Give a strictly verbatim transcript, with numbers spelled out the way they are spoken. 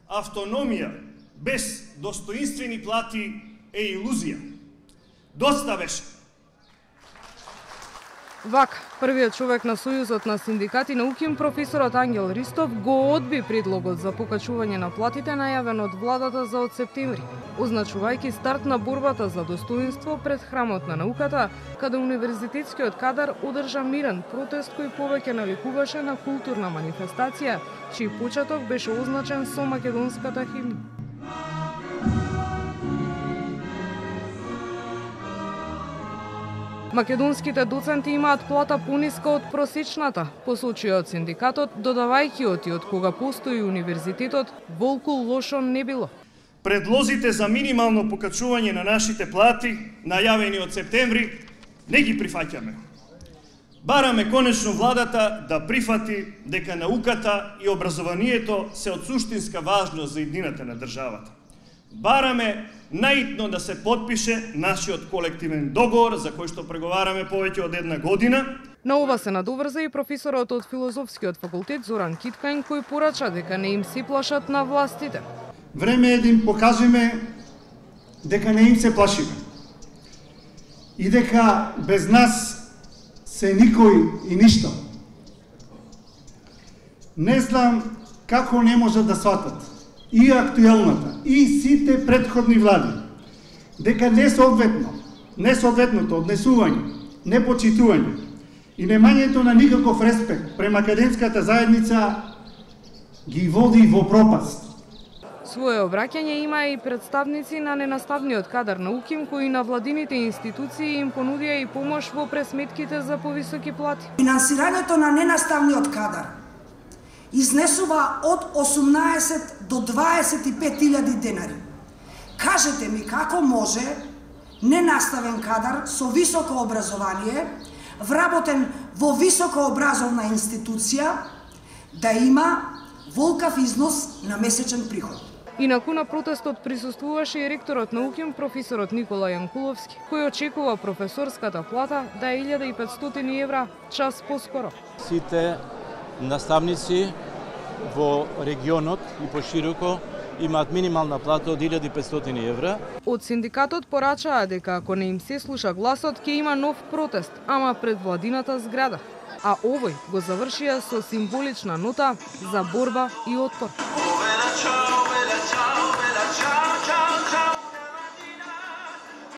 Автономија без достоинствени плати е илузија. Доста беше. Вака, првиот човек на Сојузот на синдикати на УКИМ, професорот Ангел Ристов, го одби предлогот за покачување на платите најавен од владата за од септември, означувајќи старт на борбата за достоинство пред храмот на науката, каде универзитетскиот кадар одржа мирен протест кој повеќе наликуваше на културна манифестација, чиј почеток беше означен со македонската химна. Македонските доценти имаат плата пониска од просечната, посочија од синдикатот, додавајќи оти од кога постои универзитетот, волку лошо не било. Предлозите за минимално покачување на нашите плати, најавени од септември, не ги прифаќаме. Бараме конечно владата да прифати дека науката и образованието се од суштинска важност за иднината на државата. Бараме наитно да се подпише нашиот колективен договор за кој што преговараме повеќе од една година. На ова се надоврза и професорот од Филозофскиот факултет Зоран Киткајн, кој порача дека не им се плашат на властите. Време е да им покажеме дека не им се плашиме и дека без нас се никој и ништо. Не знам како не можат да сватат и актуелната, и сите претходни влади, дека несоодветно, несоодветното однесување, непочитување и немањето на никаков респект према академската заедница ги води во пропаст. Своје обраќање има и представници на ненаставниот кадар на УКИМ, кои на владините институции им понудија и помош во пресметките за повисоки плати. Финансирањето на ненаставниот кадар изнесува од осумнаесет до дваесет и пет илјади денари. Кажете ми како може ненаставен кадар со високо образование, вработен во високообразовна институција, да има волкав износ на месечен приход. Инаку на протестот присуствуваше и ректорот на УКИМ, професорот Никола Јанкуловски, кој очекува професорската плата да е илјада и петстотини евра час поскоро. Сите наставници во регионот и пошироко имаат минимална плата од илјада и петстотини евра. Од синдикатот порачаа дека ако не им се слуша гласот, ќе има нов протест, ама пред владината зграда. А овој го завршија со символична нота за борба и отпор.